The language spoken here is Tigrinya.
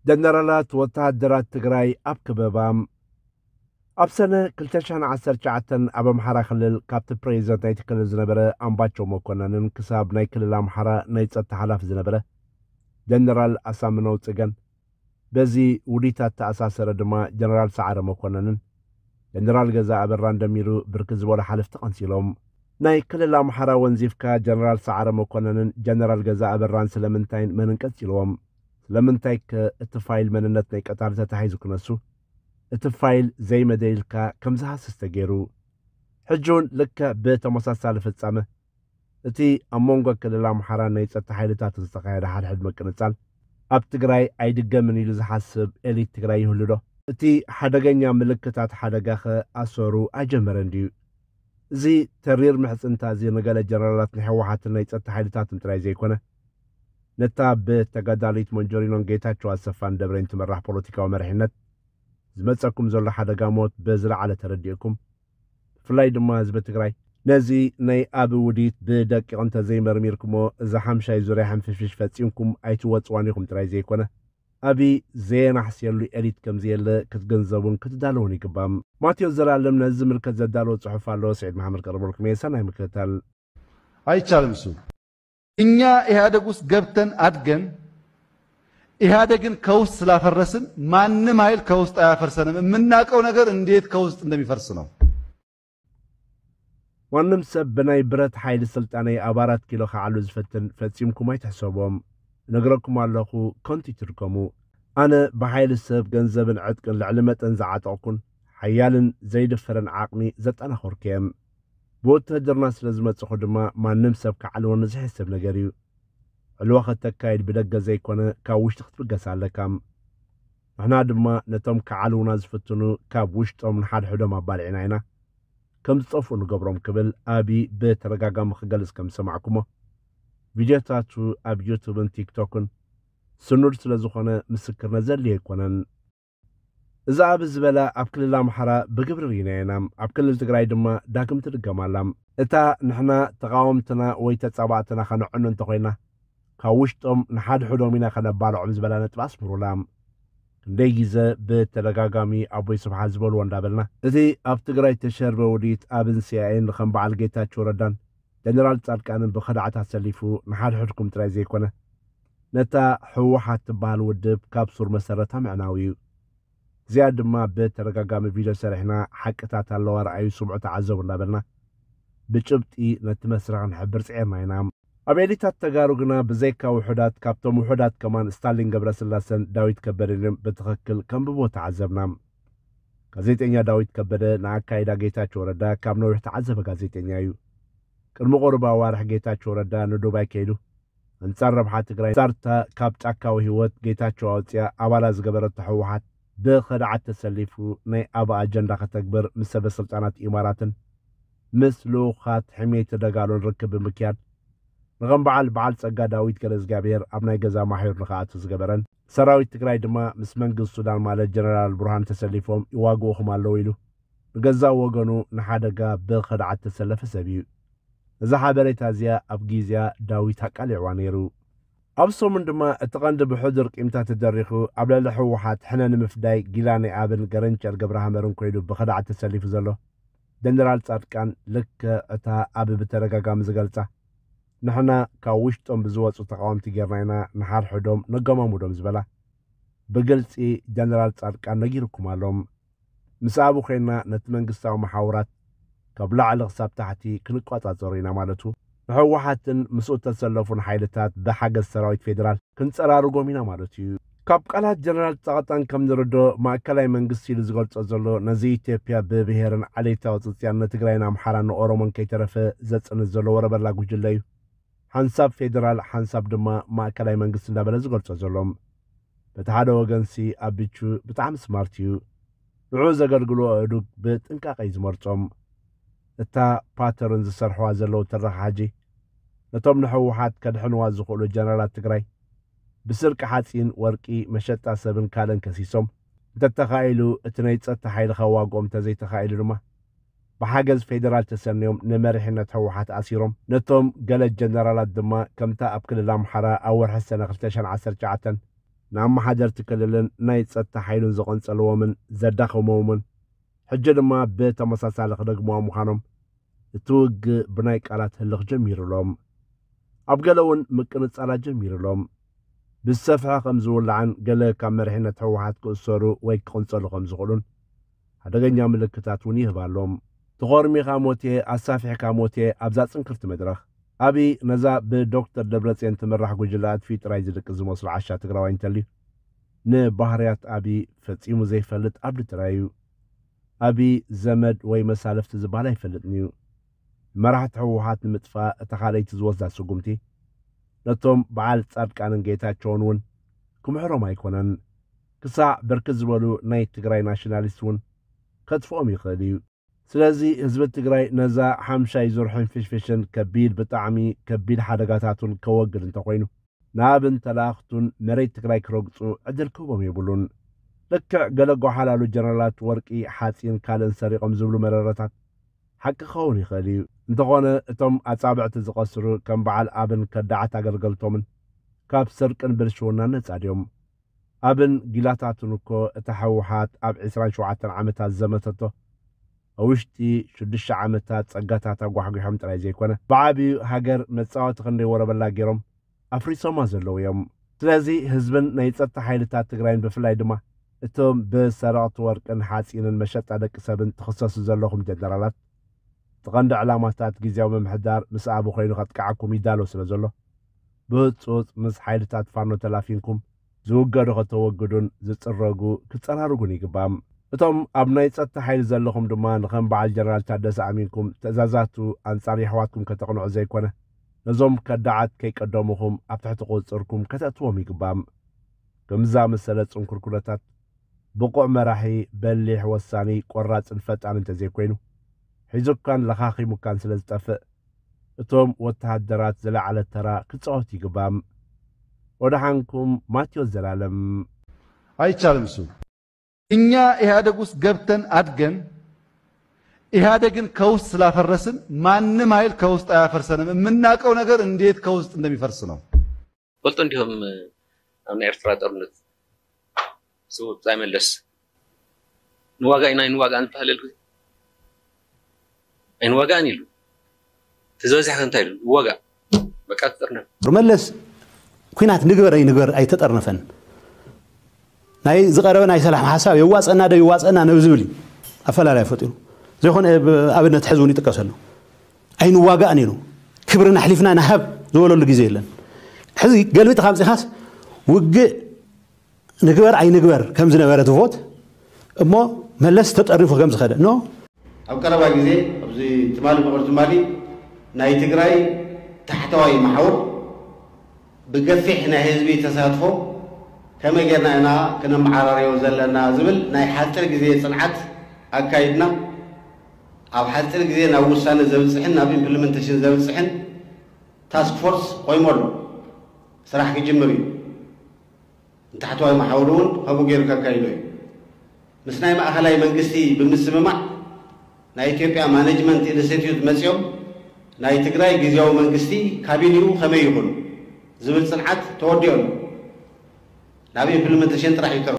ጀነራላት ወተሃደራት ትግራይ ኣብ ከበባ። ኣብ ሰነ ክልተ ሽሕን ዓሰርተ ትሽዓተን ኣብ ኣምሓራ ክልል ካብቲ ፕሬዚደንት ናይቲ ክልል ዝነበረ ኣምባቸው መኮነንን ክሳብ ናይ ክልል ኣምሓራ ናይ ጸጥታ ሓላፊ ዝነበረ ጀነራል ኣሳምነው ጽገን፣ በዚ ውዲታት ተኣሳሰረ ድማ ጀነራል ሰዓረ መኮነንን ጀነራል ገዛ ኣበራን ደሚሩ ብርክት ዝበሉ ሓለፍቲ ቀንሲሎም። ናይ ክልል ኣምሓራ ወንዚፍካ ጀነራል ሰዓረ መኮነንን ጀነራል ገዛ ኣበራን ስለምንታይን መንን ቀንሲልዎም? ስለምንታይ ከ እቲ ፋይል መንነት ናይ ቀታሊ ተታሒዙ ክነሱ? እቲ ፋይል ዘይመደይልካ ከም ዝሃስስ ተገይሩ። ሕጂ እውን ልክዕ ብተመሳሳሊ ፍጻመ እቲ ኣብ መንጎ ክልል ኣምሓራን ናይ ጸጥታ ሓይልታትን ዝተኻየደ ሓድሕድ ምቅንጻል ኣብ ትግራይ ኣይድገምን ኢሉ ዝሓስብ ኤሊት ትግራይ ይህሉ ዶ? እቲ ሓደገኛ ምልክታት ሓደጋኸ ኣሰሩ ኣይጀመረን ድዩ? እዚ ተሪር ምሕጽንታ እዚ ንገለ ጀነራላት ናይ ህወሓትን ናይ ጸጥታ ሓይልታትን ጥራይ ዘይኮነ፣ ነታ ብተጋዳሊት መንጀሪኖን ጌታቸው ኣሰፋን ደብሬን ትመራሕ ፖለቲካዊ መሪሕነት ዝመጸኩም ዘሎ ሓደጋ ሞት ብዝለዓለ ተረዲእኩም፣ ብፍላይ ድማ ህዝቢ ትግራይ ነዚ ናይ ኣብ ውዲት ብደቂቕ እንተዘይመርሚርኩሞ፣ እዛ ሓምሻይ ዙርያ ሕንፍሽፍሽ ፈጺምኩም ኣይትወጽዋን ኢኹም ጥራይ ዘይኮነ፣ ኣብይ ዘየናሕስየሉ ኤሊት ከም ዘየለ ክትግንዘቡን ክትዳለዉን ይግባእ። ማቴዎስ ዘላለም ነዚ ዝምልከት ዘዳለዎ ጽሑፍ ኣሎ፣ ስዒድ መሓመድ ቀርበልኩም እየ። ሰናይ ምክትታል። አይቻልም። እሱ እኛ ኢህአደግ ውስጥ ገብተን አድገን ኢህአደግን ከውስጥ ስላፈረስን ማንም ኃይል ከውስጥ አያፈርሰንም። የምናውቀው ነገር እንዴት ከውስጥ እንደሚፈርስ ነው። ማንም ሰብ ብናይ ብረት ሓይሊ ስልጣነይ ኣብ ኣራት ኪሎ ክዓሉ ዝፈትን ፈጺምኩም ኣይትሕሰቦም። እነግረኩም ኣለኹ፣ ከንቱ ይትድከሙ። ኣነ ብሓይሊ ሰብ፣ ገንዘብን ዕጥቅን ልዕሊ መጠን ዝዓጠቕኩን ሓያልን ዘይድፈርን ዓቕሚ ዘጠናኸርኩ እየ። ብውትህድርና ስለ ዝመጽኹ ድማ ማንም ሰብ ክዓልወኒ ዝሕሰብ ነገር እዩ። ዕልዋ ከተካይድ ብደገ ዘይኮነ ካብ ውሽጢ ክትብገስ ኣለካ። ንሕና ድማ ነቶም ክዓልውና ዝፍትኑ ካብ ውሽጦም ንሓድሕዶም ኣባሊዕና ኢና ከም ዝጠፍኡ ንገብሮም ክብል ኣብይ ብተደጋጋሚ ክገልጽ ከም ዝሰማዕኩሞ ቪድዮታቱ ኣብ ዩቱብን ቲክቶክን ስኑድ ስለ ዝኾነ ምስክርነት ዘድልዮ ኣይኮነን። እዚ ኣብ ዝበለ ኣብ ክልል ኣምሓራ ብግብሪ ርኢናዮ ኢና። ኣብ ክልል ትግራይ ድማ ዳግም ትድገም ኣላ። እታ ንሕና ተቓወምትና ወይ ተጻባእትና ከነዕኑ እንተኾይና ካብ ውሽጦም ንሓድሕዶም ኢና ከነባልዖም ዝበላ ነጥቢ ኣስምሩላ። ክንደይ ግዘ ብተደጋጋሚ ኣቦይ ስብሓት ዝበልዎ እንዳበልና እቲ ኣብ ትግራይ ተሸርበ ውዲት ኣብን ሲኣይኤን ከም በዓል ጌታቸው ረዳን ጀነራል ጻድቃንን ብኸዳዓት ኣሰሊፉ ንሓድሕድኩም ጥራይ ዘይኮነ ነታ ህወሓት ትበሃል ውድብ ካብ ሱር መሰረታ ምዕናው እዩ። እዚኣ ድማ ብተደጋጋሚ ቪድዮ ሰሪሕና ሓቅታት ኣለዋ ረኣዩ ስምዑ ተዓዘቡ እንዳበልና ብጭብጢ ነቲ መስርሕ ክንሕብር ጽዒርና ኢና። ኣብ ኤሊታት ተጋሩ ግና ብዘይካ ውሑዳት ካብቶም ውሑዳት ከማን ስታሊን ገብረስላሰን ዳዊት ከበደን እዮም ብትኽክል ከንብቦ ተዓዘብና። ጋዜጠኛ ዳዊት ከበደ ንኣካይዳ ጌታቸው ረዳ ካብ ነዊሕ ተዓዘበ ጋዜጠኛ እዩ። ቅድሚ ቁሩብ ኣዋርሕ ጌታቸው ረዳ ንዱባይ ከይዱ ኣንጻር ረብሓ ትግራይ ኣንጻር እታ ካብ ጫካዊ ህይወት ጌታቸው ኣውፅያ ኣባላ ዝገበረቶ ህወሓት ብኸድዓት ተሰሊፉ ናይ ኣበ ኣጀንዳ ከተግብር ምስ ሰበ ስልጣናት ኢማራትን ምስ ልኡኻት ሕሜቲ ደጋሎን ርክብ ብምክያድ ንኸም በዓል በዓል ጸጋ ዳዊት ገለእዝጋብሄር ኣብ ናይ ገዛ ማሕዩር ንኽኣቱ ዝገበረን ሰራዊት ትግራይ ድማ ምስ መንግስቲ ሱዳን ማለት ጀነራል ብርሃን ተሰሊፎም ይዋግኡኹም ኣለዉ ኢሉ ንገዛእ ወገኑ ንሓደጋ ብኸድዓት ተሰለፈ ሰብ እዩ። እዛ ሓበሬታ እዚኣ ኣብ ግዜኣ ዳዊት ኣቃሊዕዋ ነይሩ። ኣብ ሰሙን ድማ እቲ ቀንዲ ብሕዱር ቂምታ ተደሪኹ ኣብ ልዕሊ ህወሓት ሕነ ንምፍዳይ ጊላ ናይ ኣብን ገረንቸር ገብረሃመርን ኮይኑ ብኸድዓት ተሰሊፉ ዘሎ ጀነራል ጻድቃን ልክዕ እታ ኣብ ብተደጋጋሚ ዝገልጻ ንሕና ካብ ውሽጦም ብዝወፁ ተቓወምቲ ጌርና ኢና ንሓድሕዶም ነገማሙዶም ዝበላ ብግልፂ ጀነራል ጻድቃን ነጊርኩም ኣሎ። ምስ ኣብኡ ኮይንና ነቲ መንግስታዊ መሓውራት ካብ ላዕሊ ክሳብ ታሕቲ ክንቋጻጸሮ ኢና ማለቱ ንህወሓትን ምስኡ እተሰለፉን ሓይልታት ብሓገዝ ሰራዊት ፌደራል ክንጸራርጎም ኢና ማለቱ እዩ። ካብ ቃላት ጀነራል ጻድቃን ከም ንርዶ ማእከላይ መንግስቲ ኢሉ ዝገልጾ ዘሎ ነዚ ኢትዮጵያ ብብሄርን ዓሌታዊ ጽጽያን ንትግራይን ኣምሓራን ንኦሮሞን ከይተረፈ ዘጽንት ዘሎ ወረበላ ጉጅለ እዩ። ሓንሳብ ፌደራል ሓንሳብ ድማ ማእከላይ መንግስቲ እንዳበለ ዝገልጾ ዘሎ። በቲ ሓደ ወገንሲ ኣቢቹ ብጣዕሚ ስማርት እዩ። ንዕኡ ዘገልግሉ ኣእዱግ ብጥንቃቐ እዩ ዝመርጾም። እታ ፓተርን ዝሰርሕዋ ዘለዉ ትረኻ ሕጂ ነቶም ንህወሓት ከድሕንዋ ዝኽእሉ ጀነራላት ትግራይ ብስርቂ ሓፂን፣ ወርቂ፣ መሸጣ ሰብን ካልእን ከሲሶም እንተተኻኢሉ እቲ ናይ ፀጥታ ሓይሊ ከዋግኦም እንተዘይተኻኢሉ ድማ ብሓገዝ ፌደራል ተሰንዮም ንመሪሕነት ህወሓት ኣሲሮም ነቶም ገለ ጀነራላት ድማ ከምታ ኣብ ክልል ኣምሓራ ኣብ ወርሒ ሰነ ክልተ ሽሕን ዓሰርተ ትሽዓተን ንኣመሓደርቲ ክልልን ናይ ጸጥታ ሓይሉን ዝቐንጸልዎምን ዘዳኸምዎምን፣ ሕጂ ድማ ብተመሳሳሊ ክደግምዋ ምዃኖም እቲ ውግእ ብናይ ቃላት ህልኽ ጀሚሩሎም። ኣብ ገለ እውን ምቅንጻላት ጀሚሩሎም። ብዝሰፍሐ ከም ዝውላዕን ገለ ካብ መሪሕነት ህወሓት ክእሰሩ ወይ ክቕንጸሉ ከም ዝኽእሉን ሓደገኛ ምልክታት እውን ይህብ ኣሎ። ተኾርሚኻ ሞቴ፣ ኣሳፊሕካ ሞቴ ኣብዛ ጽንክርቲ መድረኽ። ኣብይ ነዛ ብዶክተር ደብረጽዮን ትምራሕ ጉጅለ ኣጥፊኡ ጥራይ ዝድቅስ ዝመስሎ ዓሻ ትግራዋይ እንተልዩ፣ ንባህርያት ኣብይ ፈጺሙ ዘይፈልጥ ኣብዲ ጥራይ እዩ። ኣብይ ዘመድ ወይ መሳልፍቲ ዝበሃል ኣይፈልጥን እዩ። መራሕቲ ህወሓት ንምጥፋእ እታ ካልኣይቲ ዝወስዳ ስጉምቲ፣ ነቶም በዓል ጻድቃንን ጌታቸውን እውን ክምሕሮም ኣይኮነን። ክሳዕ ብርክት ዝበሉ ናይ ትግራይ ናሽናሊስት እውን ከጥፍኦም ይኽእል እዩ። ስለዚ ህዝቢ ትግራይ ነዛ ሓምሻይ ዙር ሕንፍሽፍሽን ከቢድ፣ ብጣዕሚ ከቢድ ሓደጋታቱን ከወግድ እንተኾይኑ፣ ንኣብን ተላእኽቱን መሬት ትግራይ ክረግጹ ዕድል ክህቦም የብሉን። ልክዕ ገለ ጓሓላሉ ጀነራላት ወርቂ፣ ሓፂን ካልእን ሰሪቖም ዝብሉ መረረታት ሓቂ ክኸውን ይኽእል እዩ። እንተኾነ እቶም ኣጻብዕቲ ዝቐስሩ ከም በዓል ኣብን ከዳዓት ኣገልገልቶምን ካብ ስርቅን ብልሽውናን ነጻ ድዮም? ኣብን ጊላታቱን እኮ እታ ህወሓት ኣብ ዕስራን ሸውዓተን ዓመታት ዘመተቶ ኣብ ውሽጢ ሽዱሽተ ዓመታት ጸጋታት ኣጓሕጒሖም ጥራይ ዘይኮነ፣ ብዓብዩ ሃገር መጻወቲ ክንደይ ወረበላ ገይሮም ኣፍሪሶማ ዘለዉ እዮም። ስለዚ ህዝብን ናይ ጸጥታ ሓይልታት ትግራይን ብፍላይ ድማ እቶም ብሰረቕቲ ወርቅን ሓጺንን መሸጣ ደቂ ሰብን ትኽሰሱ ዘለኹም ጀነራላት፣ እቲ ቀንዲ ዕላማታት ግዝያዊ ምምሕዳር ምስ ኣቢ ኮይኑ ከጥቅዓኩም ይዳሎ ስለ ዘሎ፣ ብህጹጽ ምስ ሓይልታት ፋኖ ተላፊንኩም ዝውገዱ ከተወግዱን ዝጽረጉ ክጸራርጉን ይግባእ። እቶም ኣብ ናይ ጸጥታ ሓይሊ ዘለኹም ድማ ንኸም በዓል ጀነራል ታደሰ ኣሚንኩም ትእዛዛቱ ኣንጻር የሕዋትኩም ከተቕንዑ ዘይኮነ፣ ነዞም ከዳዓት ከይቀደሙኹም ኣብ ትሕቲ ቁጽጽርኩም ከተእትዎም ይግባእ። ከምዚ ዝኣመሰለ ጽንኩር ኩነታት ብቑዕ መራሒ፣ በሊሕ፣ ወሳኒ፣ ቆራጽን ፈጣን እንተዘይኮይኑ፣ ሒዙካን ለኻኺሙካን ስለ ዝጠፍእ፣ እቶም ወተሃደራት ዝለዓለ ተራ ክጻወቱ ይግባእ። ወደሓንኩም ማቴዎስ ዘላለም። አይቻልም። እሱ እኛ ኢህአደግ ውስጥ ገብተን አድገን ኢህአደግን ከውስጥ ስላፈረስን ማንም ኃይል ከውስጥ አያፈርሰንም። የምናውቀው ነገር እንዴት ከውስጥ እንደሚፈርስ ነው። ፈልጦ እንዲሁም ኣብ ናይ ኤርትራ ጦርነት ስውእ ብጻይ መለስ ንዋጋ ኢና ኣይንዋጋእን ዝበሃል የልኩ ኣይንዋጋእን ኢሉ እቲ ዝበዝሕ እንታይ ኢሉ ንዋጋእ በቃ ትጥርነፍ መለስ ኩናት ንግበር ኣይንግበር ኣይተጠርነፈን። ናይ ዝቐረበ ናይ ሰላም ሓሳብ የዋፀና ዶ ይዋፀና ነብ ዝብል እዩ ኣፈላላይ ፈጢሩ። ዘይኮነ ኣብነት ሕዚ እውን ይጥቀሰሉ። ኣይንዋጋእን ኢሉ ክብርና ኣሕሊፍና ንሃብ ዝበለሉ ግዜ የለን። ሕዚ ገልቢጥካ ኣምፂኻስ ውግእ ንግበር ኣይንግበር ከም ዝነበረ ትቮት እሞ መለስ ተጠርኒፉ ከም ዝኸደ ኖ ኣብ ቀረባ ግዜ ኣብዚ ትማሊ ብቕር ትማሊ ናይ ትግራይ ታሕተዋይ መሓውር ብገፊሕ ናይ ህዝቢ ተሳትፎ ከመይ ጌርና ኢና ክነመዓራርዮ ዘለና ዝብል ናይ ሓፂር ግዜ ፅንዓት ኣካይድና። ኣብ ሓፂር ግዜ ናብ ውሳነ ዘብፅሕን ናብ ኢምፕሊመንቴሽን ዘብፅሕን ታስክ ፎርስ ቆይሙ ኣሎ። ስራሕ ክጅምር እዩ። ንታሕተዋይ መሓውር እውን ከምኡ ገይሩ ከካይዶ እዩ። ምስ ናይ ማእኸላይ መንግስቲ ብምስምማዕ ናይ ኢትዮጵያ ማኔጅመንት ኢንስቲትዩት መፂኦም ናይ ትግራይ ግዝያዊ መንግስቲ ካቢኒኡ ከመይ ይኹን ዝብል ፅንዓት ተወዲኦ ኣሎ። ናብ ኢምፕሊመንቴሽን ጥራሕ እዩ ተርፎ።